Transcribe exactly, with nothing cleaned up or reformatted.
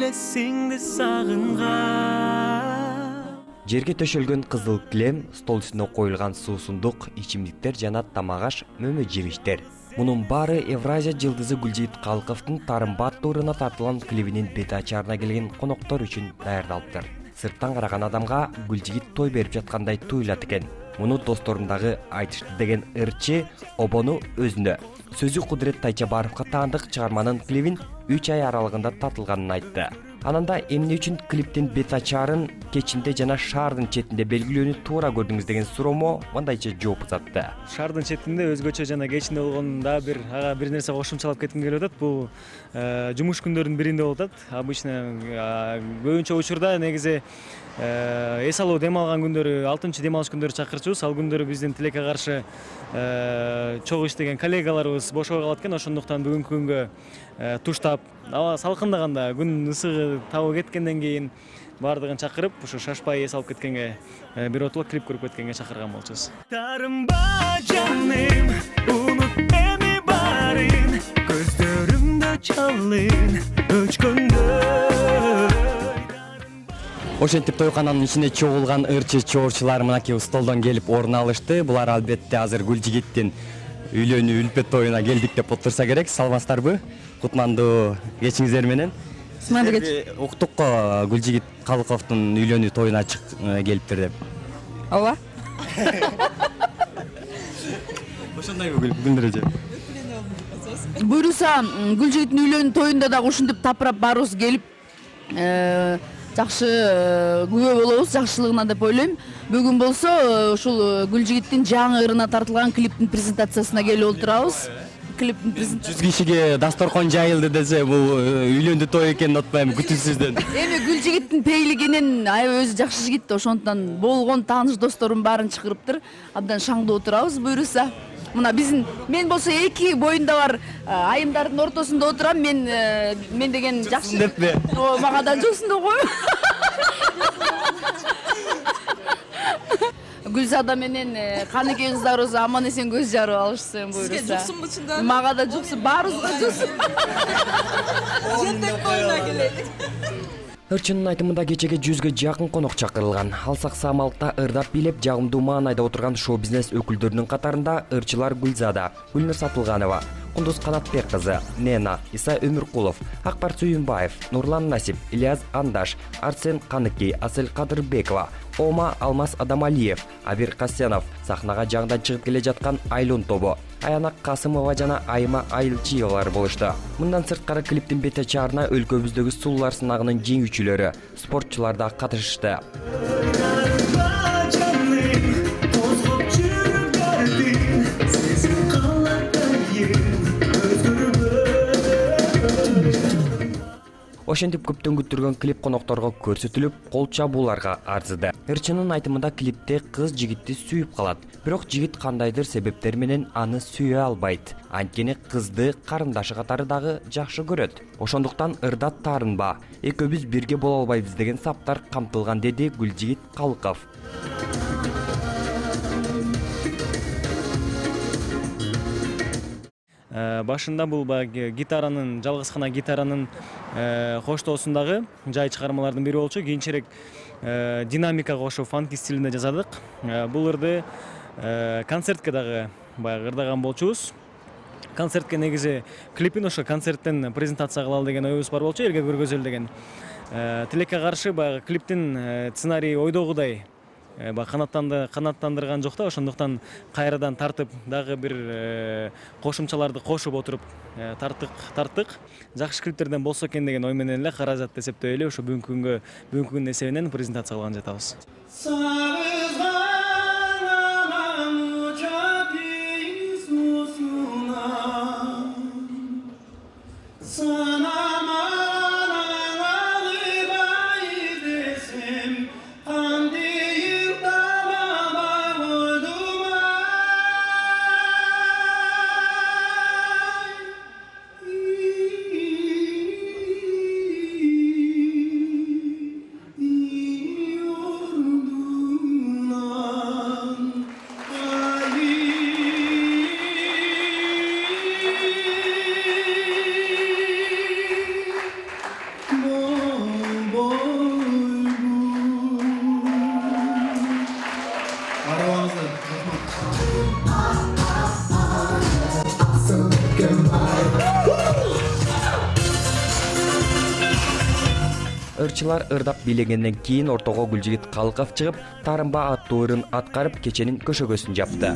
элесиңди сагынган. Жерге төшөлгөн кызыл килем, стол үстүнө коюлган суусундук, ичимдиктер жана тамак-аш, мөмө жемиштер. Мунун баары Евразия жылдызы Гүлжигит Калыковдун Тарымба аттууруна тартылган клибинин бет ачаарына келген коноктор үчүн даярдалыптыр. Сырттан караган адамга Гүлжигит той берип жаткандай туюлат экен. Муну досторундагы айтышты деген ырчы обону өзүнө. Сөзү Кудурет Тайчабаровго таандык чыгарманын клибин үч ай аралыгында тартылганын айтты. Ананда эмне үчүн клиптин бет ачаарын кечинде жана шаардын четинде белгилөөнү туура көрдүңүз деген суроомо мындайча жооп узатты. Шаардын четинде өзгөчө жана кечинде болгондо бир ага бир нерсе кошумчалап кетким келип атат. Бул жумуш күндөрүнүн биринде болуп атат. Обычно көбүнчө учурда негизи эс алуу дем алган күндөрү, алтынчы дем алыш күндөрү чакырчубуз. Ал күндөрү биздин тилекке каршы чогуу иштеген коллегаларыбыз бошого калат экен. Ошондуктан бүгүнкү күнгө туштап, аба салкындаганда, күн ысыгы табы кеткенден кийин бардыгын чакырып, ушу шашпай эс алып кеткенге, бир отулуп клип көрүп кеткенге чакырган болчубуз. Тарымба жаным, унут эми барын, көздөрүмдө чалын өчкөндө. Ошентип тойкананын ичине чогулган ырчы чоорчулар мынакей столдон келип орун алышты. Булар албетте азыр Гүлжигиттин үйлөнүү үлпөт тоюна келдик деп отурса керек. Саламатсыздарбы? Кутмандуу кечиңиздер менен. Сыманды кеч. Уктук го Гүлжигит Калыковдун үйлөнүү тоюна келиптир деп. Ооба. Ошондойбу Гүлнур эже? Буюрса, Гүлжигиттин үйлөнүү тоюнда дагы ушинтип тапырап барыбыз келип, жакшы күбө болобуз, жакшылыгына деп ойлойм. Бүгүн болсо ушул Гүлжигиттин жаңы ырына тартылган клиптин презентациясына келип отурабыз. Клиптин презентациясы. жүз кишиге дасторкон жайылды десе, бул үйлөндү той экенин отпайм, күтүүсүздөн. Эми Гүлжигиттин пейлигинен аябай өзү жакшы жигит, ошондон болгон тааныш досторун баарын чакырыптыр. Абдан шаңдуу отурабыз буюрса. Мына биздин мен болсо эки боюнда бар айымдардын ортосунда отурам. Мен мен деген жакшы деппи? О, мага да жоксун деп койм. Гүлзада менен Каныке кыздарыбыз аман эсен көз жарып алышса буюрса. Сизге жоксунбу чында? Мага да жоксун, баарыбызга жоксун. Жентек тоюна келелик. Ырчынын айтымында кечеге жүзгө жакын конок чакырылган. Алсак Самалыкта ырдап бийлеп жагымдуу маанайда отурган шоу-бизнес өкүлдөрүнүн катарында ырчылар Гүлзада, Гүлнур Сатылганова, Кундуз Канатбек кызы, Нена, Иса Өмүркулов, Акбар Сүйүнбаев, Нурлан Насип, Ильяс Андаш, Арсен Каныки, Асель Кадырбекова, Ома Алмаз Адамалиев, Абир Касьянов, сахнага жаңыдан чыгып келе жаткан Айлун тобу, Аянак Касымова жана Айма Айылчиевалар болушту. Мындан сырткары клиптин бет ачаарына өлкөбүздөгү сулуулар сынагынын жеңүүчүлөрү, спортчулар да катышышты. Ошентип көптөн күттүргөн клип конокторго көрсөтүлүп, кол чабууларга арзыды. Ырчынын айтымында клипте кыз жигитти сүйүп калат, бирок жигит кандайдыр себептер менен аны сүйө албайт. Анткени кызды карындашы катары дагы жакшы көрөт. Ошондуктан ырда таарынба, экөөбүз бирге боло албайбыз деген саптар камтылган, деди Гүлжигит Калыков. Башында бул баягы гитаранын, жалгыз гана гитаранын коштоосундагы жай чыгармалардын бири болчу. Кийинчерээк динамика кошуп, фанки стилинде жасадык. Бул ырды концертке дагы баягы ырдаган болчубуз. Концертке негизи клипин ошо концерттен презентация кылалы деген оюбуз бар болчу, элге көргөзөлү деген. Тилекке каршы баягы клиптин сценарийи ойдогудай канаттанды канаттандырган жок да, ошондуктан кайрадан тартып дагы бир кошумчаларды кошуп отуруп тарттык тарттык жакшы клиптерден болсо экен деген ой менен эле каражат эсептөй эле ошо бүгүнкү күнгө бүгүнкү күндүн эсебинен презентация кылган жатабыз. ырчылар ырдап бийлегенден кийин ортого Гүлжигит Калыков чыгып, Тарымба аттуу ырын аткарып кеченин көшөгөсүн жапты.